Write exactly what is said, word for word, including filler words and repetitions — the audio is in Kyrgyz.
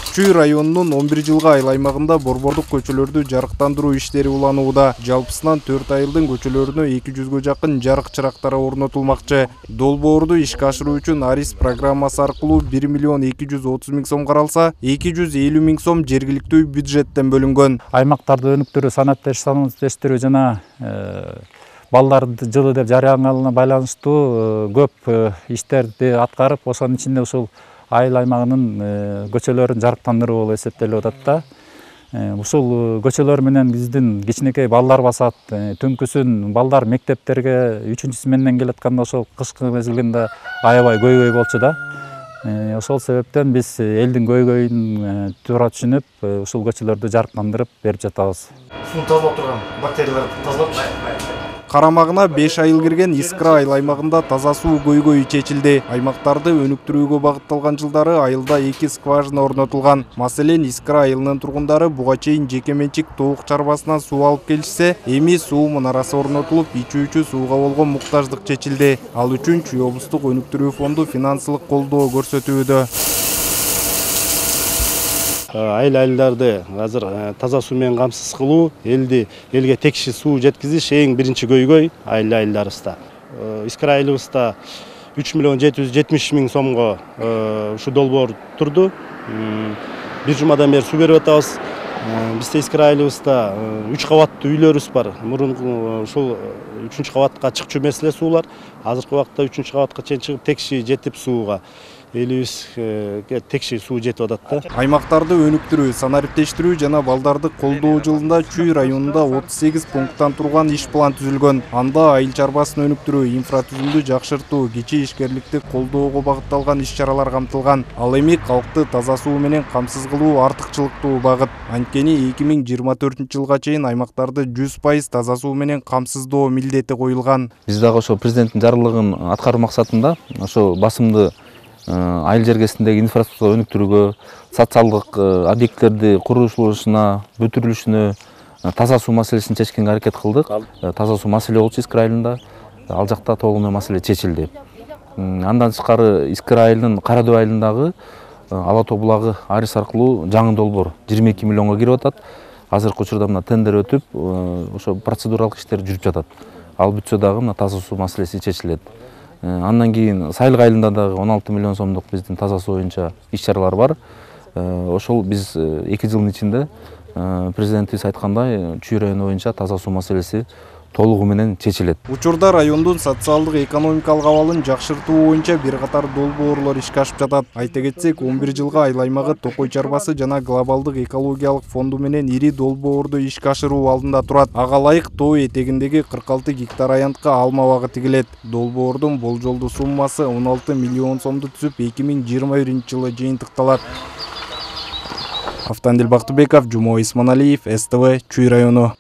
Чүй районунун он бир жылга айыл аймагында борбордук көчөлөрдү жарыктандыруу иштери уланууда. Жалпысынан төрт айылдын көчөлөрүнө эки жүзгө жакын жарык чырактары орнотулмакчы. Долбоорду ишке ашыруу үчүн Арис программасы аркылуу бир миллион эки жүз отуз миң сом каралса, эки жүз элүү миң сом жергиликтүү бюджеттен бөлүнгөн. Аймактарды өнүктүрүү, санатташтыруу жана балдарды жылы деп жарыянганына байланыштуу көп иштерди аткарып, ошонун ичинде ушул айыл аймагынын көчөлөрүн жарыктандыруу болуп эсептелип атат да. Ушул көчөлөр менен биздин кичинекей балдар басат. Түнкүсүн балдар мектептерге үчүнчү сменден келатканда ошол кышкы мезгилинде аябай көйгөй болчу да. Ошол себептен биз элдин көйгөйүн туура түшүнүп, ушул көчөлөрдү жарыктандырып берип жатабыз. Суу тазалап турган бактерияларды тазалапчы? Карамагына беш айыл кирген Искра айыл аймагында таза суу көйгөйү чечилди. Аймактарды өнүктүрүүгө багытталган жылдары айылда эки скважина орнотулган. Маселен, Искра айылынын тургундары буга чейин жеке менчик тоок чарбасынан суу алып келишсе, эми суу мунарасы орнотулуп, ичүүчү сууга болгон муктаждык чечилди. Ал үчүн Чүй облустук өнүктүрүү фонду финансылык колдоо көрсөтүүдө. Айыл айылдарды азыр таза суу менен камсыз кылуу, элди элге текши суу жеткизиш эң биринчи көйгөй айыл айылдарыбызда. Искра айылыбызда үч миллион жети жүз жетимиш миң сомго ушу долбоор турду. Бир жумадан бери суу берип атабыз. Бизде Искра айылыбызда үч кабаттуу үйлөрүбүз бар. Мурун ушул үчүнчү кабатка чыкчу маселе суулар. Азыркы убакытта үчүнчү кабатка чейин чыгып текши жетип сууга элибизге текши суу жетип атат да. Аймактарды өнүктүрүү, санариптештирүү жана балдарды колдоо жылында Чүй районунда отуз сегиз пункттан турган иш план түзүлгөн. Анда айыл чарбасын өнүктүрүү, инфратүзүмдү жакшыртуу, кичи ишкерликти колдоого багытталган иш-чаралар камтылган. Ал эми калкты таза суу менен камсыз кылуу артыкчылыктуу багыт. Анткени эки миң жыйырма төртүнчү жылга чейин аймактарды жүз пайыз таза суу менен камсыздоо милдети коюлган. Биз дагы ошо президенттин жарлыгын аткаруу максатында ошо басымды айыл жергесиндеги инфраструктура өнүктүрүүгө, социалдык объекттерди курулушуна, бүтүрүлүшүнө таза суу маселесин чечкенге аракет кылдык. Таза суу маселе болчу Искра айылында. Ал жакта толук менен маселе чечилди. Андан тышкары Искра айылынын Кара Дөбө айылындагы Ала Тоо булагы Арис аркылуу жаңы долбоор жыйырма эки миллионго кирип атат. Азыркы учурда мына тендер өтүп, ошо процедуралык иштер жүрүп жатат. Ал бүтсө дагы мына таза суу маселеси чечилет. Андан кийин Сайылга айылында дагы он алты миллион сомдук биздин таза суу боюнча иш-чаралар бар. Ошол биз эки жылдын ичинде президентибиз айткандай Чүй району боюнча таза суу маселеси толугу менен чечилет. Учурда райондун социалдык экономикалык абалын жакшыртуу боюнча бир катар долбоорлор ишке ашып жатат. Айта кетсек, он бир жылга айыл аймагы Токой чарбасы жана глобалдык экологиялык фонду менен ири долбоорду ишке ашыруу алдында турат. Ага ылайык тоо этегиндеги кырк алты гектар аянтка алма багы тигилет. Долбоордун болжолдуу суммасы он алты миллион сомду түзүп, эки миң жыйырма биринчи жылы жыйынтыкталат. Автандил Бактыбеков, Жумой Исманалиев, С Т В, Чүй району.